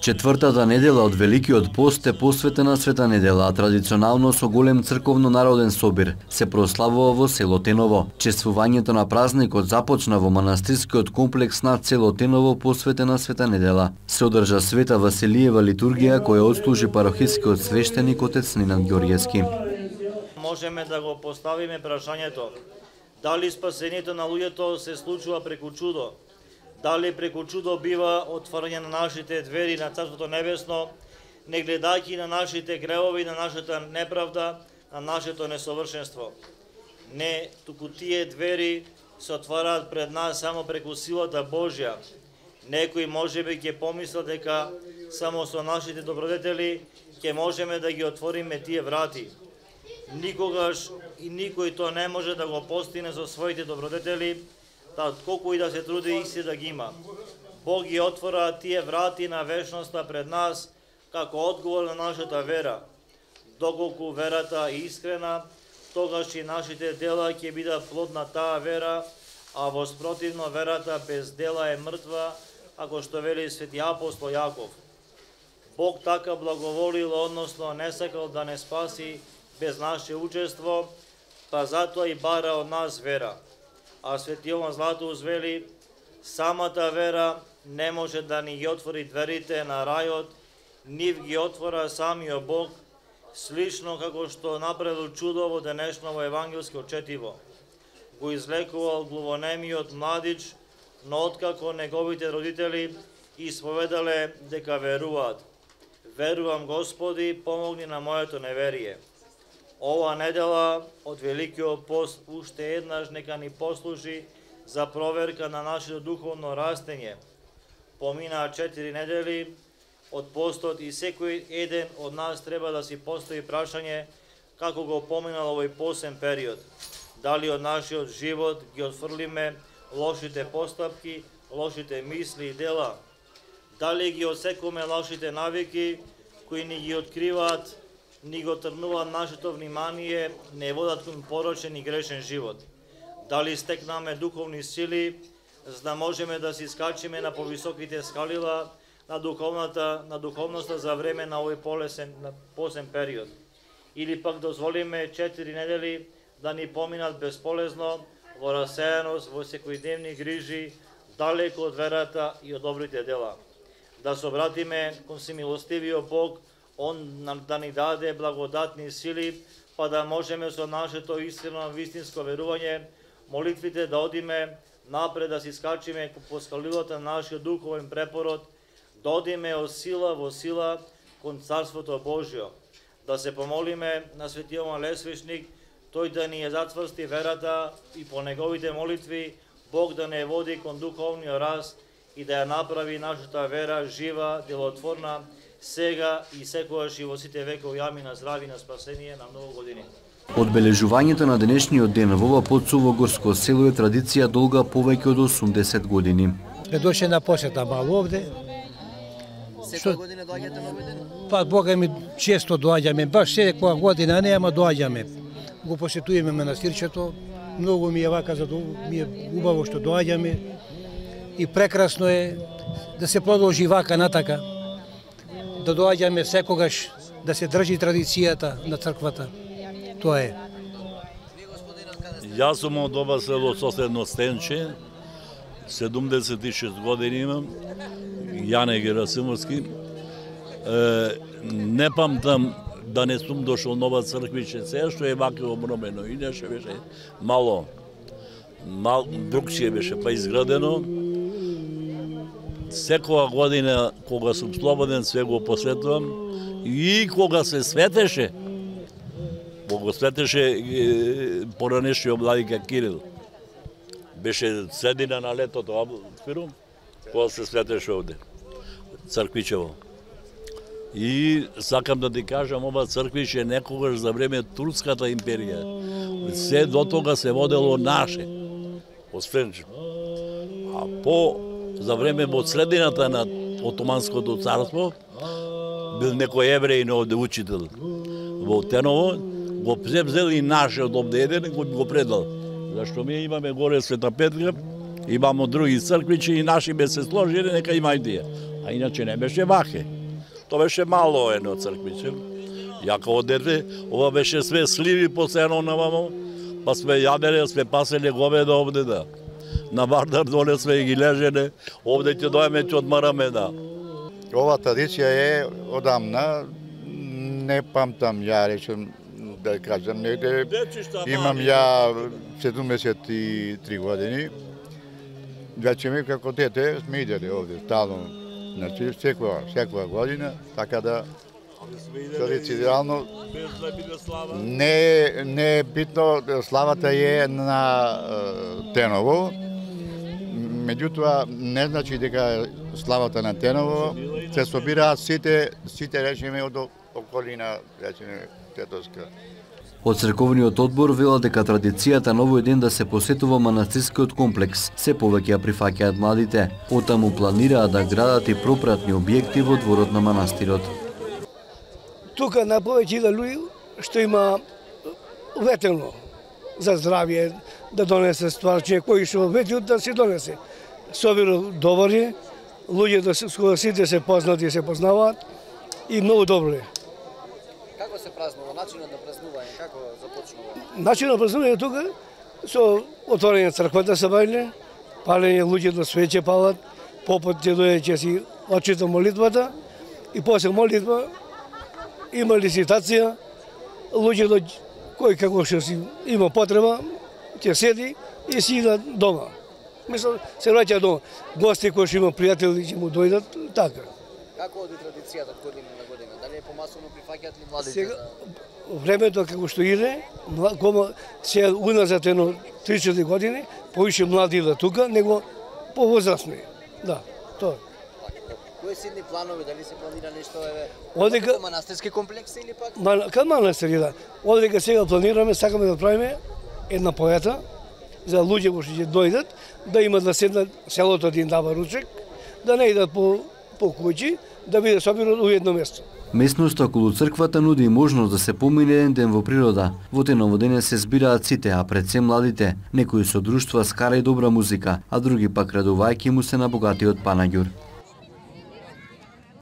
Четвртата недела од Великиот пост е посветена Света недела, а традиционално со голем црковно-народен собир се прославува во село Теново. Чествувањето на празникот започна во манастирскиот комплекс над село Теново посветена Света недела. Се одржа Света Василиева литургија која отслужи парохискиот свештеник отец Ненад Ѓорѓевски. Можеме да го поставиме прашањето дали спасението на луѓето се случува преку чудо. Дали преку чудо бива отворање на нашите двери на Царството Небесно, не гледајќи на нашите гревови, на нашата неправда, на нашето несовршенство. Не, туку тие двери се отвараат пред нас само преку силата Божја. Некој можеби ќе помисла дека само со нашите добродетели ќе можеме да ги отвориме тие врати. Никогаш и никој то не може да го постигне со своите добродетели, колку и да се труди исти да ги има. Бог ги отвора тие врати на вечноста пред нас како одговор на нашата вера. Доколку верата е искрена, тогаш и нашите дела ќе бидат плод на таа вера, а воспротивно верата без дела е мртва, ако што вели свети апостол Јаков. Бог така благоволил, односно не сакал да не спаси без наше учество, па затоа и бара од нас вера. А свети Јован Златоуст вели, самата вера не може да ни ги отвори дверите на рајот, нив ги отвора самиот Бог, слично како што направил чудо во денешново евангелско четиво. Го излекувал глувонемиот младич, но откако неговите родители исповедале дека веруваат. Верувам Господи, помогни на моето неверие. Ова недела од Великиот пост уште еднаш нека ни послужи за проверка на нашето духовно растење. Поминаа 4 недели од постот и секој еден од нас треба да си постави прашање како го поминал овој постен период. Дали од нашиот живот ги отфрлиме лошите постапки, лошите мисли и дела? Дали ги осекуваме лошите навики кои ни ги откриваат, ни го трнуваат нашето внимание, не водат кон порочен и грешен живот? Дали стекнаме духовни сили, за да можеме да си скачиме на повисоките скалила на духовноста за време на овој посен период? Или пак дозволиме 4 недели да ни поминат безполезно во расејаност, во секојдневни грижи, далеко од верата и од добрите дела? Да се обратиме кон всемилостивиот Бог, Он да ни даде благодатни сили, па да можеме со нашето искрено вистинско верување, молитвите да одиме напред, да си скачиме по скалилата на нашиот духовен препород, да одиме од сила во сила кон Царството Божјо. Да се помолиме на свети Јован Лесвичник, тој да ни ја зацврсти верата и по неговите молитви Бог да не води кон духовниот раст и да ја направи нашата вера жива, делотворна, сега и секогаш и во сите векови. Амин, на здравје, на спасение, на многу години. Одбележувањето на денешниот ден во ова подсувогорско село е традиција долга повеќе од 80 години. Доше на посета мало овде. Секоја година доаѓате на овој ден? Па Бога ми често доаѓаме, баш секоја година не, ама доаѓаме. Го посетуваме манастирчето, многу ми е вака, ми е убаво што доаѓаме и прекрасно е да се продолжи вака натака. Да доаѓаме секогаш, да се држи традицијата на црквата. Тоа е. Јас сум од ова село соседно Стенче, 76 години имам, Јане Герасимовски. Не памтам да не сум дошол нова црквище, се што е вака обновено, иначе беше мало другчие беше па изградено. Секоја година, кога сум слободен, све го посветувам и кога се светеше, го светеше поранешниот владика Кирил. Беше средина на летото, кога се светеше овде, црквичево. И сакам да ти кажам, ова црквище некогаш за време Турската империја, се до тога се водело наше, освен а за време во средината на Отоманското царство, бил некој евреин овде учител во Теново, го взел и нашиот овде еден и го предал. Зашто ми имаме горе Света Петка, имамо други црквичи и наши бе се сложили, нека има и тие. А иначе не беше ваке. То беше мало едно црквиче. Ја као дете, ова беше све сливи посено навамо, па сме јадене, сме паселе говеда овде, да. На Вардар доле сме ги лежене, овде ќе дојме, ќе одмараме, да. Ова традиција е одамна, не памтам, ја речем, да кажам, негде имам ја 73 години, веќе ми како дете сме иделе овде, стално, значи секоја година, така да традиционално не е битно, славата е на Теново, меѓутоа не значи дека славата на Теново се собираат сите речеме од околина, речеме Тетовска. Од црковниот одбор велат дека традицијата на овој ден да се посетува манастирскиот комплекс се повеќе ја прифаќаат младите. Оттаму планираат да градат и пропратни објекти во дворот на манастирот. Тука на повеќе да луѓе што има ветено за здравје, да донесе стварче кои што ветиот да се донесе. Собира добри, луѓе да сите се познати и се познаваат и многу добро е. Како се празнува, начинот на празнување, како започнува? Начинот на празнување тука со отворање црквата се бајле, палење луѓе да свеќе палат, попот ќе дојде ќе си очита молитвата и после молитва има лиситација, луѓето кој како што си има потреба, ќе седи и си ида дома. Мислам, се враќа дома. Гости кои што има пријатели ќе му дојдат, така. Како оди традицијата од година на година? Дали е помасовно прифаќаат ли младите? Сега, времето како што иде, се уназад едно 3-4 години, повише млади идат тука, него повозрастни. Да, тоа. Кои се идни планови, дали се планира нешто Одека манастирски комплекс или пак? Кај манастир, да. Одека сега планираме, сакаме да правиме една поета за луѓе кои ќе дојдат, да имат да седнат селото да им дава ручек, да не идат по куќи, да биде собирано у едно место. Местноста околу црквата нуди и можност да се помине еден ден во природа. Во Теново дене се збираат сите, а пред се младите, некои со друштва скара и добра музика, а други пак радувајќи му се на богатиот панаѓур.